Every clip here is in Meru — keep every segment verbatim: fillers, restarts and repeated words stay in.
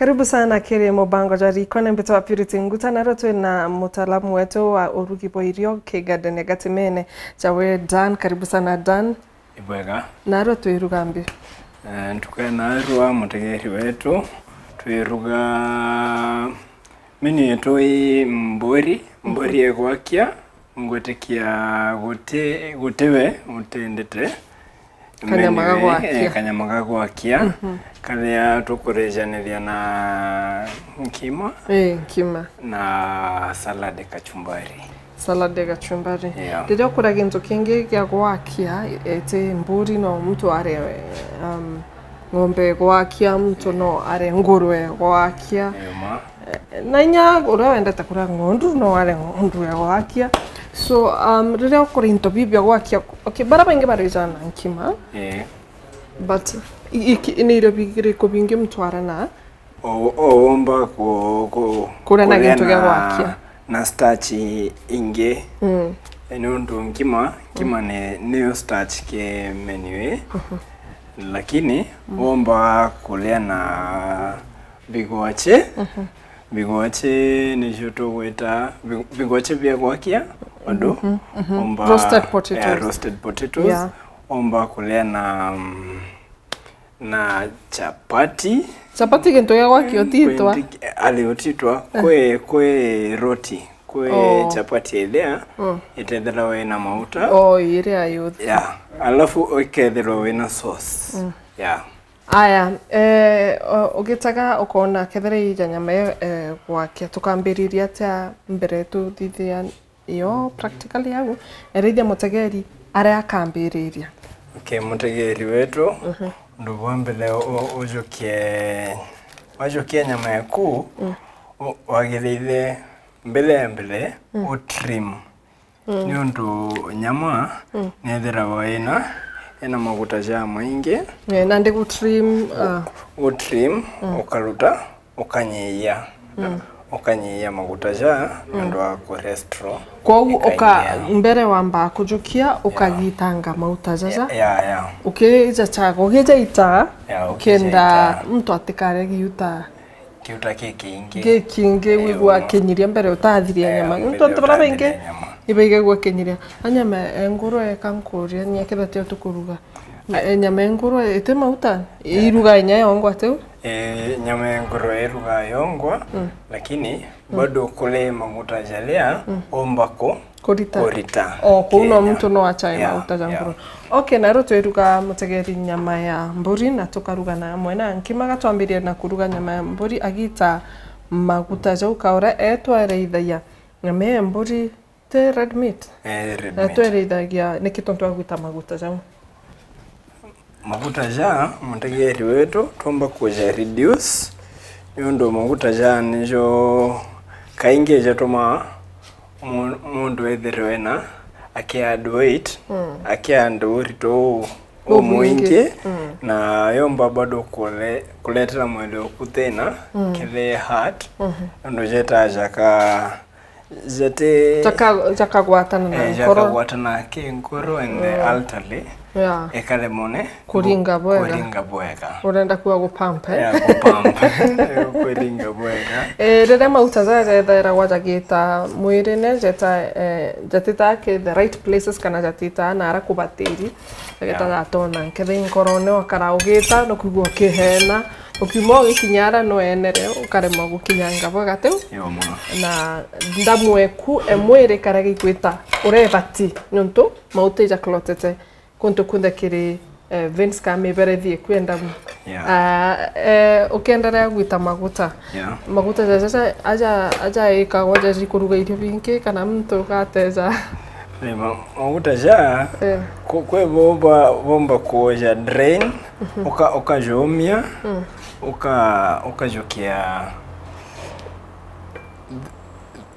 Karibu sana kiri mubango jwa Riko, ni mbitwa Purity Nguta, narua twi na mutaalamu wetu wa urugi bwa irio ki garden ya Gatimene, jawe Dan. Karibu sana Dan. Ibwega. Narua twiruga mbi? Eh, ntuku ya narua, mutegeri wetu, twiruga menu yetu i mburi, mburi ya gwakia, ngwitikia guti, gutiwe utendete. Kanyama ga gwakia. Eh, kanyama ga gwakia, karia tukurijaniria na nkima. Eh, nkima. Na salad kachumbari. Salad ya kachumbari. Yeah. Riria ukura gintu kingi gia gwakia, iti mburi, no muntu arie, um, ng'ombe gwakia, muntu no arie ngurwe gwakia. Eh, ma. Eh, na inya uria wendete kuria ng'ondu no arie ng'ondu ya gwakia. So, um, riria ukura into biu bia gwakia, okay, bara baingi barijana nkima. Eh. But i-, iki-, ni irio biriku bingi muntu aria na O, o womba ku, ku, kuria na kuria gintu gia na, gwakia na starch ingi. Mm. Ni untu nkima, nkima ni, niyo starch ke menu ii. Lakini womba kuria na bigwache. Bigwache nicio tugwita bi-, bigwache bia gwakia andu. Womba, roasted potatoes. Yeah, roasted potatoes. Yeah. Womba kuria na, mm, na chapati. Chapati gintu gia gwakia utitwa? Kwindi-, ali utitwa. Eh. Kwi, kwi roti, kwi, oh, chapati iria, mm, itethirwa ina mauta. Oh, iria yuthi. Yeah. Alafu ikethirwa wina sauce. Mm. Yeah. Aya, eh, o-, ugitaga ukona kethira ija nyama iyo, eh, gwakia, tukambiriria atia mbere tuthithia iyo practically au, erithia mutegeri aria akambiriria. Okay, mutegeri wetu, mhm, undu bwa mbere u-, ujukie, wajukia nyama yaku, mm, u-, wagiriire mbere ya mbere, mm, u trim. Mm. Ni untu nyama, mm, nethiragwa ina, ina maguta ja maingi. Eh, nandi gu trim, ah, u trim, mm, ukaruta, ukanyiyia. Mm. Ukanyiyia maguta ja, mm, nontu wa cholesterol. Kwou uka-, ikaingia. Mbere wambaa kujukia, ukagitanga mauta jaja. Ya, ya, ya. Ukija chaga, ukija ita, ya, ukija kenda ita, muntu atikare giuta. Giuta gikingi. Gikingi, eh, wigua kinyiria mbere utathiria nyama. Nontu antu baria baingi ibaigagua kinyiria. A nyama e ngurwe eka nkuria, ni akethira tio tukuruga. E, nyama ya ngurwe iti mauta, iruga inya yongwa tiu? E, nyama ya ngurwe iruga yongwa, mm, lakini, mm, bado kuri maguta jaria, mm, umba ku-, kurita. Kurita. O, kuu no muntu no achae, yeah, maguta ja, yeah, ngurwe. Okay, na riu twiruga mutegeri nyama ya mburi na tukaruga na amwe na nkima, gatwambirie na kuruga nyama ya mburi agita maguta jau kaura etwareithagia nyama ya mburi. Ti red meat? Eh, red meat. Na twerithagia niki tontu wa gwita maguta jau? Maguta ja, mutegeri wetu, twomba kuja reduce, niundu maguta ja nijo kaingi jatumaa mu-, mundu ethirwe na aki add weight, mm, aki add urito u-, umwingi, umwingi, mm, na yomba bado kule-, kuletera mwili uku thina, mm, kiri heart, mhm, nontu jetaa jaka Jati-, jaka-, jakagwatana na, eh, nkoro. Jakagwatana ki nkoro and the, mm, artery, yeah, ikaremwa ni kuringa bwega. Kuringa bwega. Urenda kuga gupamp, eh? Yeah, gupamp. Kuringa bwega. Eh, riria mauta jaja jethairagwa jagita mwirine, jeta, eh, jatitaa ki the right places kana jatitaa nara kubatiri, jagita, yeah, jatona nkethe nkorone wakara ugita, nukwigua ukihena, ukiuma ugikinya ara no enere, ukaremwa gukinyanga bwega tiu. Yo, mono. Na ndamu eku e mwiri karega igwita urebati, niuntu mauta ijaklotete kuntu kunthe kiri, eh, veins kana miberethi eku e ndamu. Yeah. Ah, eh, ukienderea gwita maguta. Yeah. Maguta jaja aja, aja ikagwa jaji kuruga irio bingi kana muntu ugateja. Eh, ma-, maguta ja, eh, ku-, kwe bomba, bomba kuoja drain, mhm, uka-, ukajomia, mm, uka-, ukajukia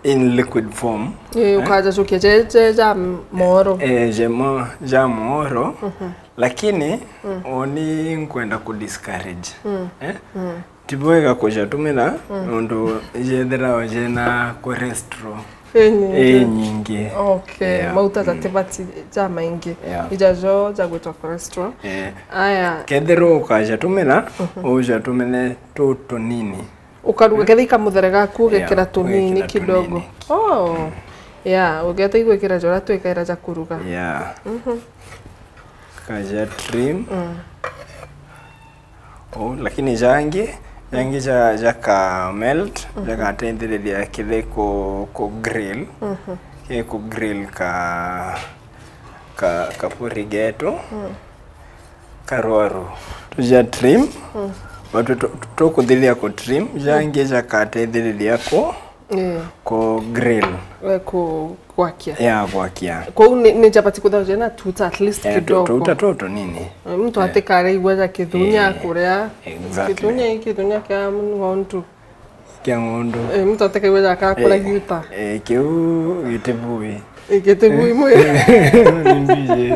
in liquid form. Eh, eh? Ukajajukia je, je ja moro. Eh, je mo-, ja moro. Mhm. Lakini, mm, uni nkwenda ku discourage. Mm. Eh? Mm. Ti bwega kujatumira, mm, nontu ijethiragwa jena cholesterol. Inyingi. Inyingi. Okay. Yeah. Mauta jatibati jamaingi. Yeah. Ijajo jagwitwa cholesterol. Eh. Aya. Kethirwa ukajatumira, mhm, ujatumire tu tunini. Ukaruga, ketha i kamuthere gaku, yeah, ugekira tunini, ugekira kidogo, tunini. Oh. Yeah, ugeta igwikira jora twikaira ja kuruga. Yeah. Mhm. Kaja trim. Mm. Oh, lakini jangi, jangi ja, jaka melt, mhm, jagateithiriria kithi ku, ku grill. Mhm. Ki ku grill ka, ka, kapuri getu. Mm. Karwaru. Tuja trim. Mm. Batu tu, tu, tukuthithia ku trim, jangi jakateithiriria ku, eh, ku grill. Eh, ku, gwakia. Ya gwakia. Kwou ni, ni chapati kuthaja na tuta at least, eh, tu, kidogo. Tuta tu tunini. Eh, mtu, eh, atikare igwa ja kithunya, eh, kuria. Exactly. Kithunya i kithunya kia ng'ondu. Kia ng'ondu. Eh, mtu atikaigua jaka akura, eh, giuta. Eh, kiu gitibui. Eh, gitibui mwe. Ni mbiji.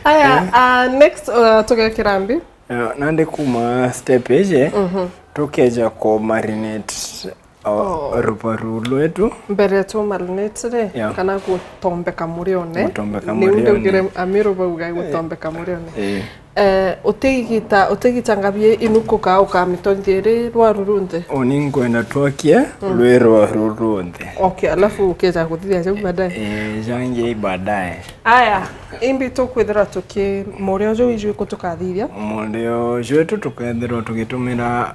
Aya, eh, ah, next, uh, tugekira mbi? Eh, nandi kuma step iji, mhm, tukeja ku marinate o, oh, rubaru rwetu. Mbere tu marinate ri, yeah, kana gutombeka murione. Gutombeka murione. Niu ndaugire Amiru bauga, eh, gutombeka murione. Eh. Eh, utigita, utigita ngabi inukuka ukamitonyia iri rwaru runthe? Uni nkwenda twokie, mm, rwi rwaru runthe. Okay, alafu ukeja kuthithia jau baadaye. Eh, jangi baadaye. Aya, imbi tukwithirwa tuki, murio ju iju iku tukathithia? Murio jwetu tukethirwa tugitumira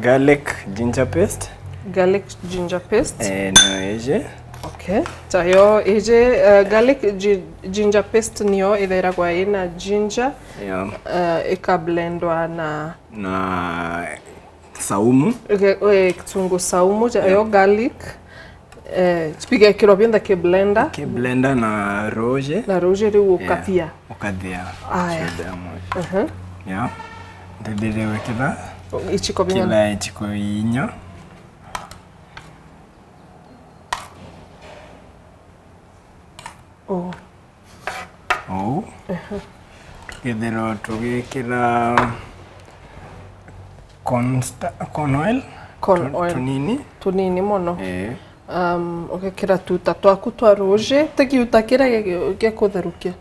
garlic ginger paste. Garlic ginger paste. Eh, nio iji. Okay. Tayo iji, eh, garlic gi-, ginger paste nio ithairagwa ina ginger. Yeah. Eh, ikablendwa na, na saumu. Ige-, eh, kitungu saumu, ja-, yeah, yo garlic. Eh, bigekirwa bionthe ki blender. Ki blender na ruuji. Na ruuji riu, yeah, ukathia. Ukathia. Aya. Cionthe amwe. Mhm. Yeah. Ndithire gwikira ichiko bing'ana? Kila ichiko inya. Oh. Ou. Ehe. Tukethirwa tugikira corn sta-, corn oil. Corn oil. Tu-, tunini. Tunini mono. Eh. Um, ugekira tuta twaku twa ruuji, ti giuta kiria gi-, gi-, gia kutherukia.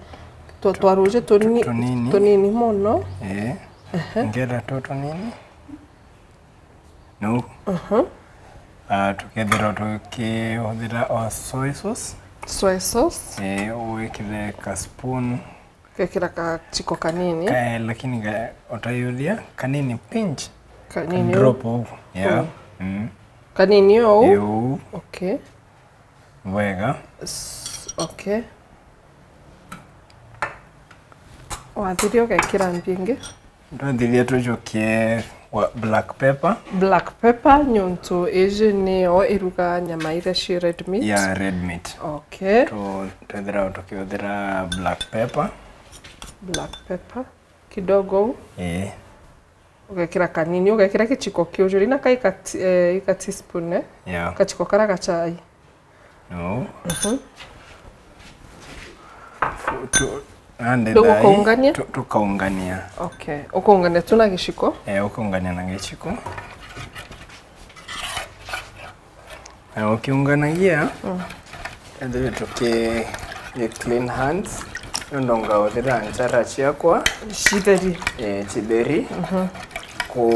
Twa, twa ruuji tunini, tu-, tunini. Tunini mono. Eh. Ehe. Ngera tu tunini. Nau. Mhm. Ah, tukethirwa tukihũthĩra o soy sauce. Soy sauce. Eh, wĩkĩre ka spoon. Gekĩra kachiko kanini. Ka, lakini ga, ũtaiyũria, kanini pinch. Kanini. Ka drop ũguo. Yeah. Mm. Mm. Kanini ũũ? Ĩĩ, ũũ. Okay. Bwega. S-, okay. Wathiria ũgekĩra mbi ĩngĩ? Ndwathiria tũjokie wa black pepper. Black pepper, nyũntũ ĩjĩ nĩyo ĩruga nyama iria ciĩ red meat. Yeah, red meat. Okay. Tu-, twethira tũkĩhũthĩra black pepper. Black pepper. Kidogo. Ĩĩ. Ũgekĩra kanini, ũgekĩra gĩchiko kĩu juu, na kai ka ti-, eh, ka teaspoon, eh? Yeah. Gachiko kara ga chai. No. Mhm. Tu-, tu-, nande. Ndio thai, gũkaũngania? Tu-, tũkaũngania. Okay. Ũkaũngania tu na gĩchiko? Eh, ũkaũngania na gĩchiko. Na ũkĩũnganagia, mm, ethire tũkĩ, gĩ clean hands, nũndũ ngaũthĩra njara ciakwa. Citheri. Eh, citheri. Mhm. Ku,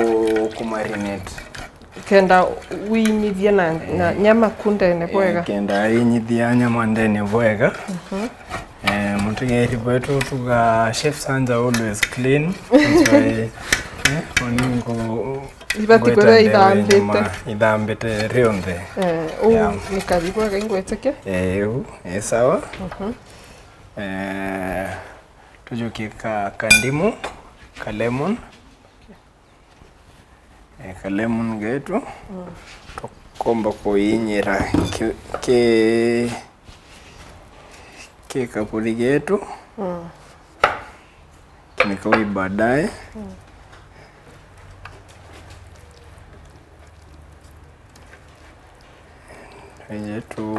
ku marinate. Kenda winyithie na, na, eh, nyama ku ndene, eh, bwega. Kenda inyithia nyama ndene bwega. Mhm. Eh, mũtegeri bwetu tuga chef Sanja always clean. That's why, eh, oni ngu-, ibati ngweta kwĩra ndeo ithambĩte. Nyama ithambĩte rionthe. Eh, ũu, yeah, nĩ kathi bwega ingwĩtĩkia. Eh, ũu, eh, sawa. Mhm. Eh, tũjokie ka, ka ndimũ, ka lemon. Eh, ka lemon getu. Mm. Tũkomba kũinyira ki, ki, ki kaburi getu. Mm. Kinika wi baadaye. Mm. Ije tu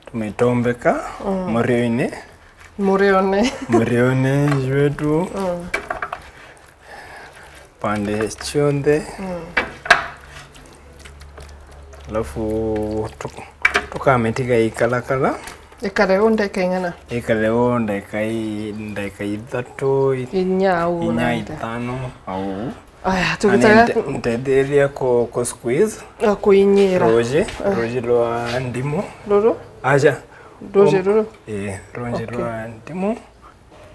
Tumetombeka, mm, mũrĩo-inĩ. Mũrĩone. Mũrĩone jwetu. Mm. Pande cionthe. Mm. Alafu tu-, tukamĩtiga ĩikarakara. Ĩkare ũũ ndagĩka ing'ana? Ĩkare ũũ ndagĩka i-, ndagĩka ithatũ, i-, inya au inya na itano au. Aya, tugitaga nte- ntethiria ku, ku squeeze. Ah, kuinyira ruji, ruji rwa ndimu. Ruru? Aja. Ruji ruru? Ii, ruji rwa ndimu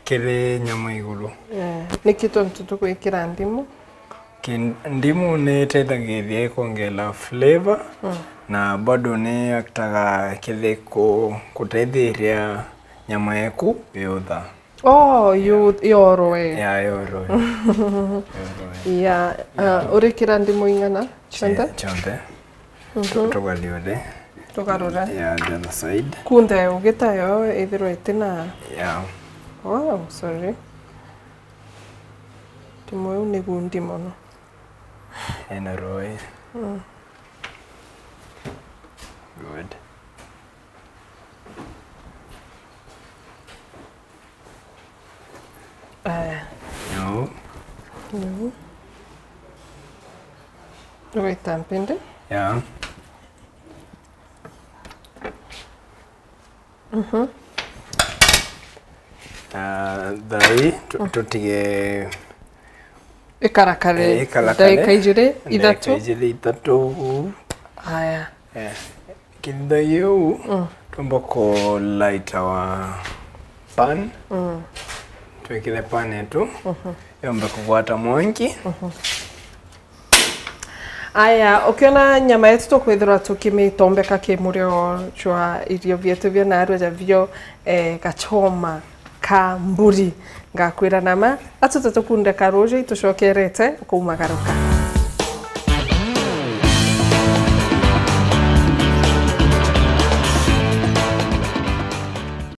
kiri nyama iguru. Eh, niki tontu tugwikira ndimu? Ki-, ndimu ni itethagiria ikongeera flavor, na bado ni actaga kithi ku-, kutethiria nyama yaku yutha. Oh, yu-, yoroe. Ya, yoroe. Yoroe. Ya, ah, urikira ndimu ing'ana? Cionthe? Cionthe. Tu-, tugarure. Tugarure. Ya, the other side. Kunthe ugitayo ithirwe itina. Ya. Oh, sorry. Ndimu iu ni gundi mono. Ena roi. Mm. Good. Aya. Nuu. Nuu. Wita mpindi. Ya. Mhm. Ah, thaa ii tu-, tutige ikarakare, eh, ikarakare ndagika ijiri, ndagika ithatu. Ijiri, ithatu. Aya. Eh. Kithithagia uu, mm, twamba ku light our pan. Mm. Twikire pan yetu, mhm, yombe kugwata mwanki. Mhm. Aya, ukiona nyama yetu tukwithirwa tukimitombeka ki murio jwa irio bietu bia narua ja bio, eh, gachoma ka mburi. Ngakwira nama, atuta tukunde ka ruju, itucokerete kuumagaruka.